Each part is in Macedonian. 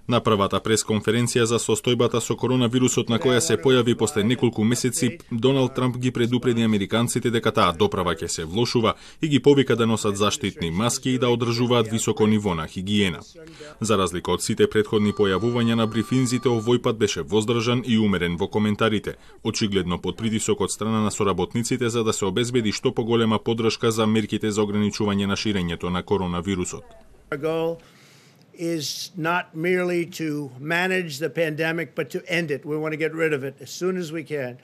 На првата пресконференција за состојбата со коронавирусот на која се појави после неколку месеци, Доналд Трамп ги предупреди американците дека таа доправа ќе се влошува и ги повика да носат заштитни маски и да одржуваат високо ниво на хигиена. За разлика од сите претходни појавувања на брифинзите, овој пат беше воздржан и умерен во коментарите, очигледно под притисок од страна на соработниците за да се обезбеди што поголема поддршка за мерките за ограничување на ширењето на коронавирусот. Is not merely to manage the pandemic, but to end it. We want to get rid of it as soon as we can.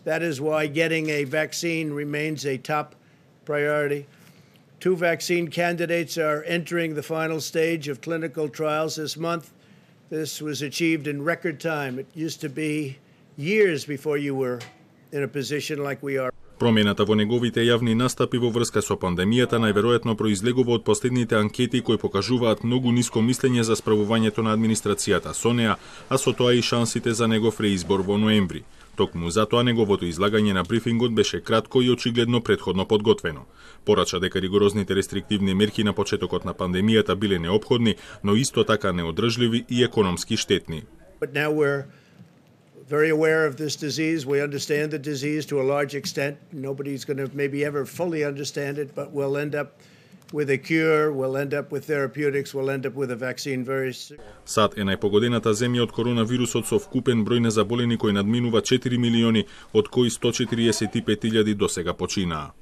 That is why getting a vaccine remains a top priority. 2 vaccine candidates are entering the final stage of clinical trials this month. This was achieved in record time. It used to be years before you were in a position like we are. Промената во неговите јавни настапи во врска со пандемијата најверојатно произлегува од последните анкети кои покажуваат многу ниско мислење за справувањето на администрацијата со неа, а со тоа и шансите за негов реизбор во ноември. Токму затоа неговото излагање на брифингот беше кратко и очигледно претходно подготвено. Порача дека ригорозните рестриктивни мерки на почетокот на пандемијата биле неопходни, но исто така неодржливи и економски штетни. Very aware of this disease. We understand the disease to a large extent. Nobody's going to maybe ever fully understand it, but we'll end up with a cure, we'll end up with therapeutics, we'll end up with a vaccine very soon. САД е најпогодената земја од коронавирусот со вкупен број на заболени кои надминува 4 милиони, од кои 145.000 досега починаа.